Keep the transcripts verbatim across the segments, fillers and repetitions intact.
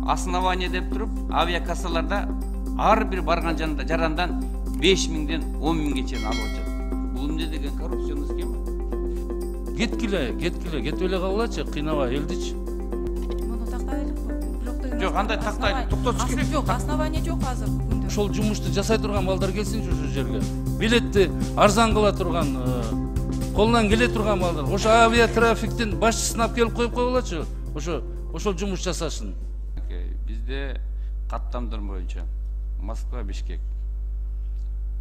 основание деп туруп авиакассаларда ар бир барган жарандан беш миңден он миңге чейин алып атышат. Бул эмне деген коррупционный схема? Кеткиле, кеткиле, кетип эле калгылачы, кыйнабай элдичи. Муну тактайлык. Жок, андай тактайлык, токтотуш керек. Жок, основание жок азыр бүгүндө. Ошол жумушту жасай турган балдар келсинчи ошол жерге. Билетти арзан кыла турган, колунан келе турган балдар. Ошо авиатрафиктин башчысын алып келип коюп койгулачы. Ошо ошол жумуш жасашын. Бизде каттамдар боюнча Москва, Бишкек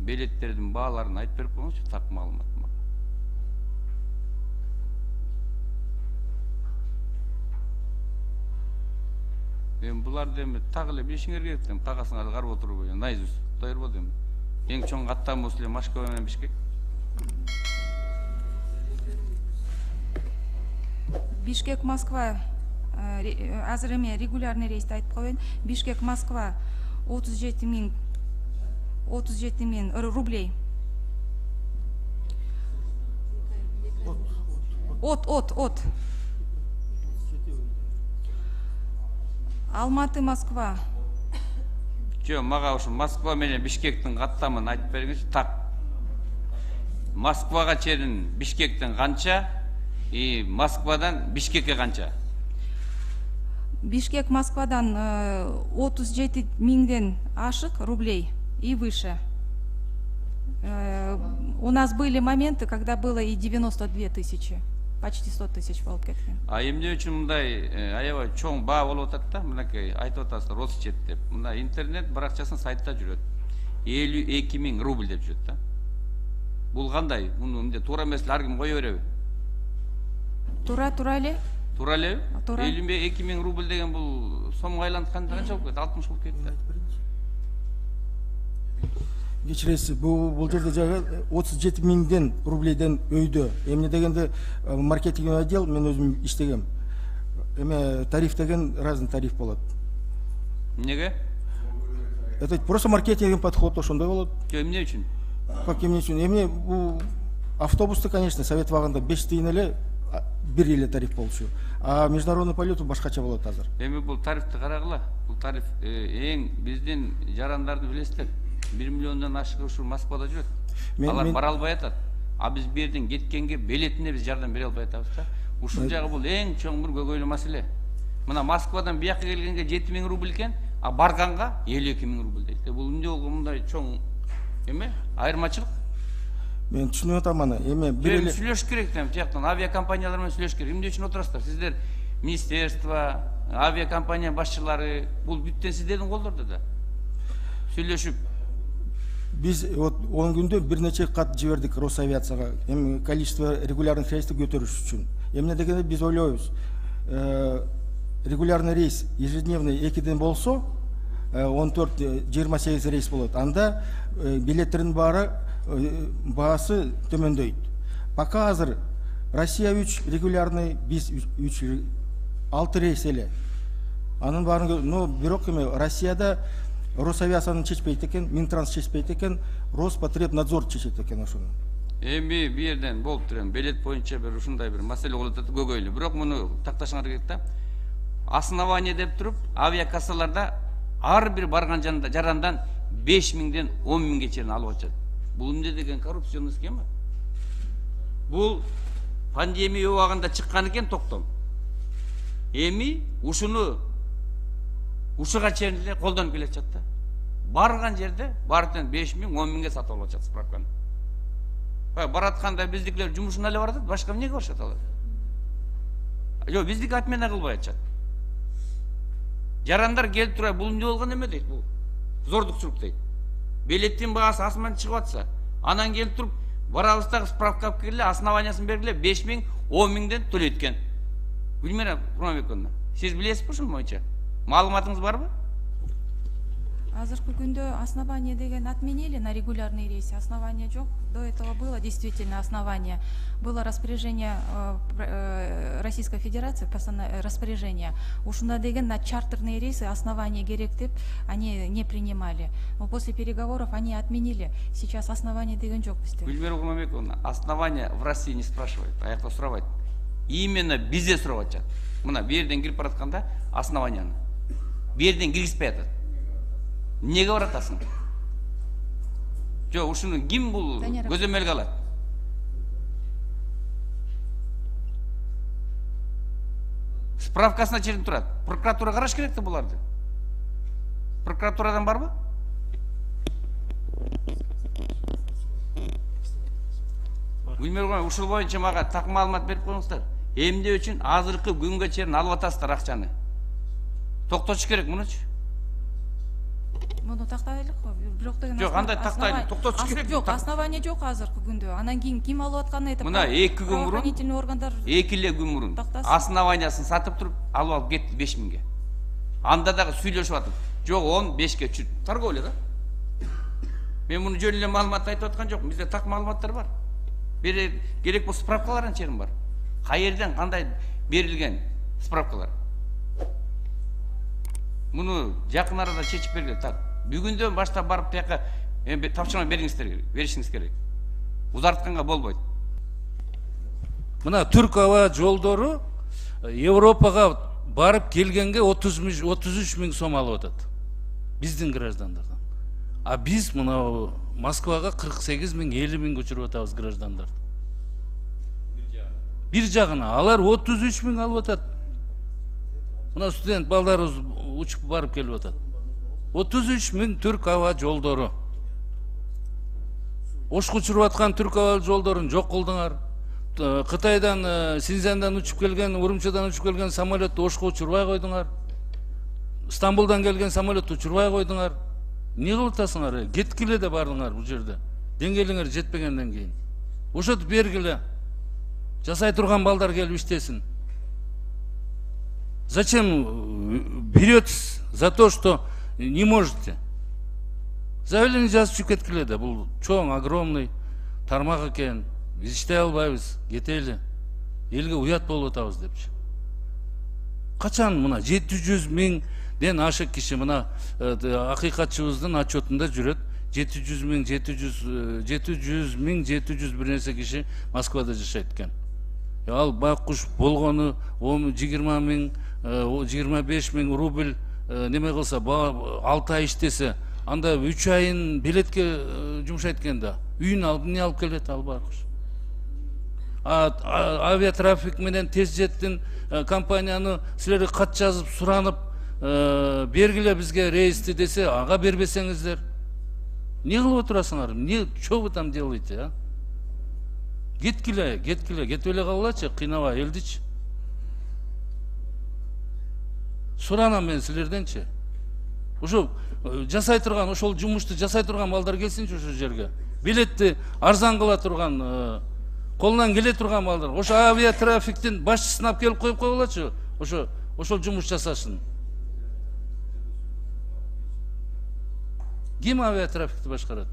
билеттердин бааларын айтып берип коюңузчу, так маалымат. Мен буларды эми так эле билишиңер керек да, багасыңарды карап отуруп, наизусть дайыр болду эми. Эң чоң каттам осул Москва менен Бишкек. Бишкек, Москва азыр эме регулярный рейсти айтып коеюн. Бишкек, Москва отуз жети миң отуз жети миң рублей. От, от, от. Алматы, Москва. Жо, мага ушу Москва менен Бишкектин каттамын айтып бериңизчи. Так. Москвага чейин Бишкектен канча, и Москвадан Бишкекке канча? Бишкек, Москвадан отуз жети миңден ашык рублей и выше. У нас были моменты, когда было и девяносто две тысячи. Почти сто тысяч болуп кеткен. А эмне үчүн мындай аябай чоң баа болуп атат да? Мынакей айтып атасыздар Росчет деп. Мына интернет баракчасынын сайтта жүрөт. элүү эки миң рубль деп жүрөт да. Бул кандай? Муну эмне туура эмес эле ар ким кое береби? Туура, туура эле. Туура элеби? элүү эки миң рубль деген бул сомго айлантканда канча болуп кетти? алтымыш болуп кетти да. Кечиресиз, бул жерде жагы отуз жети миңден рублейден өйдө. Эмне дегенде маркетинг отдел мен өзүм иштегем. Эме тариф деген разный тариф болот. Эмнеге? Это просто маркетинг подход ошондой болот. Эмне үчүн? Как эмне үчүн? Эмне бул автобусты, конечно, совет вагында беш тыйын эле бир эле тариф болчу. А международный полет башкача болот азыр. Эми бул тарифти карагыла. Бул тариф эң биздин жарандарды билесиздер. бир миллиондон ашык ушул Москвада жүрөт. Алар бара албай атат. А биз бу жерден кеткенге билетине биз жардам бере албай атабыз да. Ушул жагы бул эң чоң бир көйгөйлүү маселе. Мына Москвадан бияка келгенге жети миң рубль экен, а барганга элүү эки миң рубль дейт. Бул эмне болгон мындай чоң эме айырмачылык? Мен түшүнүп атам аны. Эме бир эле сүйлөшүш керек да, тияктан авиакомпаниялар менен сүйлөшүш керек. Эмне үчүн отурасыздар? Сиздер министерство, авиакомпания башчылары, бул бүттен сиздердин колдордо да. Сүйлөшүп Биз вот он күндө бир нече кат жибердик Росавиацияга. Эми количество регулярных рейстер көтөрүш үчүн. Эмне дегенде биз ойлойбуз. Регулярный рейс ежедневный экиден болсо, он төрт жыйырма сегиз рейс болот. Анда билеттердин баары баасы төмөндөйт. Пока азыр Россия үч регулярный, биз үч алты рейс эле. Анын баарын, но бирок эми Россияда Росавиацияны чечпейт экен, Минтранс чечпейт экен, Роспотребнадзор чечет экен ошону. Эми бу жерден болуп турган билет боюнча бир ушундай бир маселе болуп атат, көйгөйлүү. Бирок муну такташыңар керек да. Основание деп туруп, авиакассаларда ар бир барган жарандан беш миңден он миңге чейин алып атышат. Бул эмне деген коррупционный схема? Бул пандемия убагында чыккан экен токтом. Эми ушуну ушуга чейин эле колдонуп келе жатат да. Барган жерде бардын беш миң он миңге сатып алып атышат справканы. Баратканда биздикилер жумушуна эле барат, башка эмнеге барышат алар? Жок, биздики отмена кылбай атышат. Жарандар келип тура, бул эмне болгон эме дейт, бул зордукчулук дейт. Билеттин баасы асман чыгып атса, анан келип туруп, барабыз дагы справка алып келгиле, основаниясын бергиле, беш миң он миңден төлөйт экен. Гүлмира Курманбековна, сиз билесизби ушул боюнча? Маалыматыңыз барбы? Азыркы күндө основание деген отменили на регулярные рейсы. Основания жок. До этого было действительно основание. Было распоряжение Российской Федерации, распоряжение. Ушунда деген на чартерные рейсы основания керек деп они не принимали. Но после переговоров они отменили. Сейчас основания деген жок бизде. Гүлмира Курманбековна, основания в России не спрашивают, а якта сурабайт. Именно бизде сурап атышат. Мына бу жерден кирип баратканда основанияны. бул жерден киргизбей атат. Эмнеге баратасың? Жок, ушуну ким бул көзөмөлгө алат? Справкасына чейин турат. Прокуратура караш керек да буларды. Прокуратурадан барбы? Билмей койгон, ушул боюнча мага так маалымат берип коюңуздар. Эмне үчүн азыркы күнгө чейин алып атасыздар акчаны? Токтотуш керек мунучу. Муну тактайлык го. Бирок деген Жок, андай тактайлык, токтотуш керек. Жок, основания жок азыркы күндө. Анан кийин ким алып атканын айтып. Мына эки күн мурун, правоохранительный органдар эки эле күн мурун основаниясын сатып туруп алып алып кетти беш миңге. Анда дагы сүйлөшүп атып, жок он бешке торговля да. Мен муну жөн эле маалымат айтып аткан жокмун. Бизде так маалыматтар бар. Бери керек болсо справкаларын чейин бар. Кайерден кандай берилген справкалар. Муну жакын арада чечип бергиле. Так, бүгүндөн баштап барып тияка тапшырма бериңиздер керек, беришиңиз керек. Узартканга болбойт. Мына түрк аба жолдору Европага барып келгенге отуз үч миң сом алып атат. Биздин граждандардан. А биз мына Москвага кырк сегиз миң, элүү миң көчүрүп атабыз граждандарды. Бир жагына алар отуз үч миң алып атат. Мына студент балдарыбыз учуп барып келип атат. отуз үч миң түрк аба жолдору. Ошко учуруп аткан түрк аба жолдорун жок кылдыңар. Кытайдан, Синьцзяндан учуп келген, Урумчидан учуп келген самолетту Ошко учурбай койдуңар. Стамбулдан келген самолетту учурбай койдуңар. Не кылып атасыңар? Кеткиле да бардыңар бул жерде. Деңгээлиңер жетпегенден кийин. Ошентип бергиле. Жасай турган балдар келип иштесин. Зачем беретесь за то, что не можете? Заявление жазып кеткиле да. Бул чоң, огромный тармак экен. Биз иштей албайбыз, кетели. Элге уят болуп атабыз депчи. Качан мына жети жүз миңден ашык киши мына акыйкатчыбыздын отчетунда жүрөт. жети жүз миң, жети жүз миң, жети жүз бир нерсе киши Москвада жашайт экен. Ал байкуш болгону жыйырма миң, жыйырма беш миң рубль неме кылса, алты ай иштесе, анда үч айын билетке жумшайт экен да. Үйүн алып, эмне алып келет ал байкуш? Авиатрафик менен тез жеттин компанияны силерге кат жазып суранып бергиле бизге рейсти десе, ага бербесеңиздер не кылып отурасыңар? Не, что вы там делаете, а? Кеткиле, кеткиле, кетип эле калгылачы, кыйнабай элдичи. Суранам мен силерденчи. Ошо жасай турган, ошол жумушту жасай турган балдар келсинчи ошол жерге. Билетти арзан кыла турган, колунан келе турган балдар. Ошо авиатрафиктин башчысын алып келип коюп койгулачы. Ошо ошол жумуш жасашын. Ким авиатрафикти башкарат?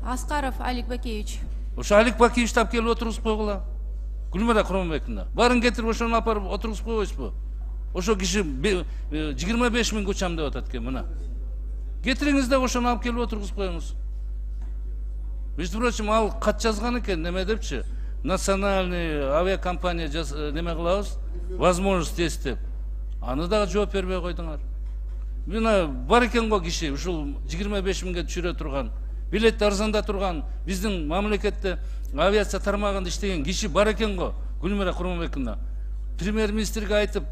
Аскаров Алик Бакеевич. Ошо Алик Бакеевичти алып келип отургузуп койгула. Гүлмира Курманбековна, барын кетирип ошону апарып отургузуп койбойсузбу? Ошо киши жыйырма беш миң көчам деп атат экен, мына. Кетириңиз да ошону алып келип отургузуп коюңуз. Между прочим, ал кат жазган экен, неме депчи, национальный авиакомпания неме кылабыз, возможность есть деп. Аны дагы жооп бербей койдуңар. Мына бар экен го киши, ушул жыйырма беш миңге түшүрө турган, билетти арзанда турган, биздин мамлекетте авиация тармагында иштеген киши бар экен го, Гүлмира Курманбековна. Премьер-министрге айтып,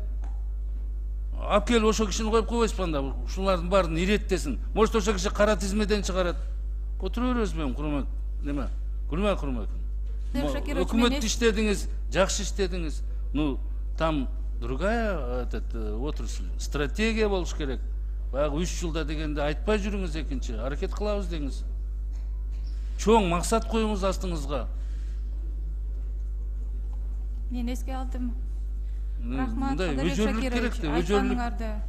алып келип ошо кишини коюп койбойсузбу анда, ушулардын баарын иреттесин. Может, ошо киши кара тизмеден чыгарат. Отура беребизби Курман, неме? Гүлмира Курманбековна. Өкмөттү иштедиңиз, жакшы иштедиңиз. Ну, там другая этот отрасль, стратегия болуш керек. Баягы үч жылда дегенде айтпай жүрүңүз экинчи, аракет кылабыз деңиз. Чоң максат коюңуз астыңызга. Мен эске алдым. Рахмат, өжөрлүк керек да, өжөрлүк.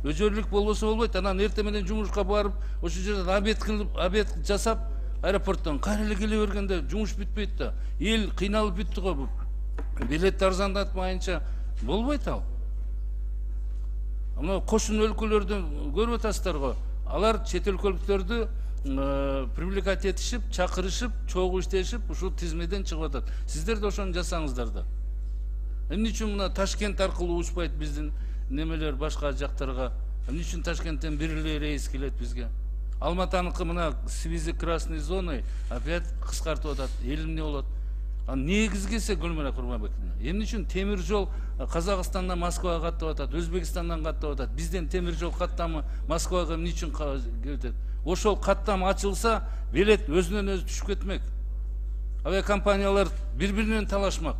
Өжөрлүк болбосо болбойт. Анан эртең менен жумушка барып, ошол жерден обед кылып, обед жасап, аэропорттон кайра эле келе бергенде жумуш бүтпөйт да. Эл кыйналып бүттү го. Билет арзандатмайынча болбойт ал. Мына кошун өлкөлөрдү көрүп атасыздар го. Алар чет өлкөлүктөрдү привлекать этишип, чакырышып, чогуу иштешип, ушул тизмеден чыгып атат. Сиздер да ошону жасаңыздар да. Эмне үчүн мына Ташкент аркылуу учпайт биздин немелер башка жактарга. Эмне үчүн Ташкенттен бир эле рейс келет бизге? Алматаныкы мына связи красной зоной опять кыскартып атат. Эл эмне болот? А негизгиси Гүлмира Курманбековна, эмне үчүн темир жол Казакстандан Москвага каттап атат, Өзбекстандан каттап атат. Бизден темир жол каттамы Москвага эмне үчүн келет? Ошол каттам ачылса, билет өзүнөн өзү түшүп кетмек. Авиакомпаниялар бири-биринен талашмак.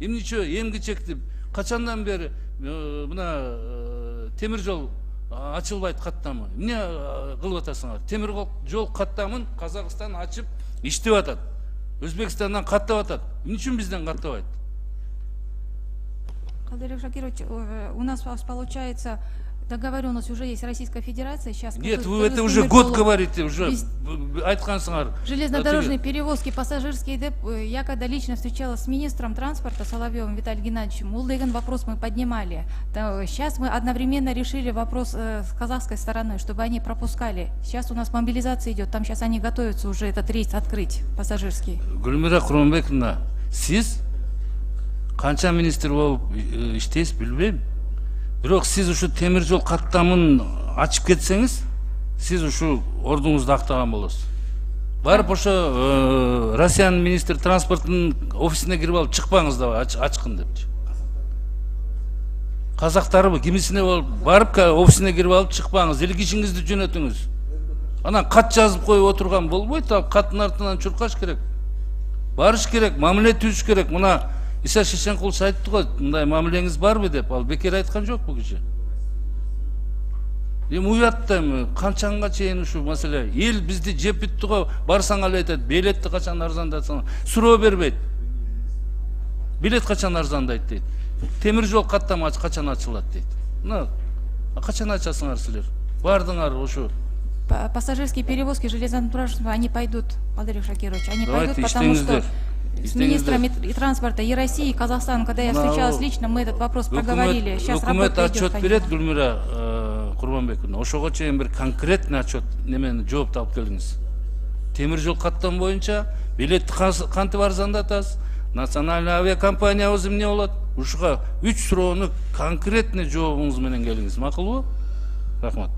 Эмнече эмгичекти качандан бери мына темир жол ачылбайт каттамы? Эмне кылып атасыңар? Темир жол каттамын Казакстан ачып иштеп атат. Өзбекстандан каттап атат. Эмне үчүн бизден каттабайт? Калдырбек Шакирович, у нас получается договоренность уже есть Российская Федерация. Сейчас Нет, вы это уже год говорите, уже айткансыңар. Железнодорожные перевозки пассажирские деп, я когда лично встречалась с министром транспорта Соловьевым Виталием Геннадьевичем,ул деген вопрос мы поднимали. Сейчас мы одновременно решили вопрос с казахской стороны, чтобы они пропускали. Сейчас у нас мобилизация идет, там сейчас они готовятся уже этот рейс открыть, пассажирский. Гүлмира Курманбековна, сиз канча министр болуп иштейсиз билбейм. Бирок сиз ушу темир жол каттамын ачып кетсеңиз, сиз ушу ордуңузду актаган болосуз. Барып ошо Россиянын министр транспорттун офисине кирип алып чыкпаңыз да ачкын депчи. Казактарбы кимисине болуп барып офисине кирип алып чыкпаңыз, эл кишиңизди жөнөтүңүз. Анан кат жазып коюп отурган болбойт, ал каттын артынан чуркаш керек. Барыш керек, мамиле түзүш керек. Мына Иса Шешенкулович айтты го, мындай мамилеңиз барбы деп, ал бекер айткан жок бул киши. Эми уятта эми канчанга чейин ушу маселе, эл бизди жеп бүттү го, барсаң ал айтат, билетти качан арзандатсаң, суроо бербейт. Билет качан арзандайт дейт. Темир жол каттама качан ачылат дейт. Мына качан ачасыңар силер? Бардыңар ушу. Пассажирские перевозки железнодорожные, они пойдут, Калдырбек Шакирович, они пойдут, потому что с министрами транспорта и России, и Казахстана, когда я встречалась лично, мы этот вопрос проговорили. Сейчас работа идет. Отчет берет, Гүлмира Курманбековна. Ошого чейин бир конкретный отчет немени жооп алып келиңиз. Темир жол каттам боюнча билетти кантип арзандатасыз? Национальный авиакомпаниябыз эмне болот? Ушуга үч суроону конкретный жообуңуз менен келиңиз. Макулбу? Рахмат.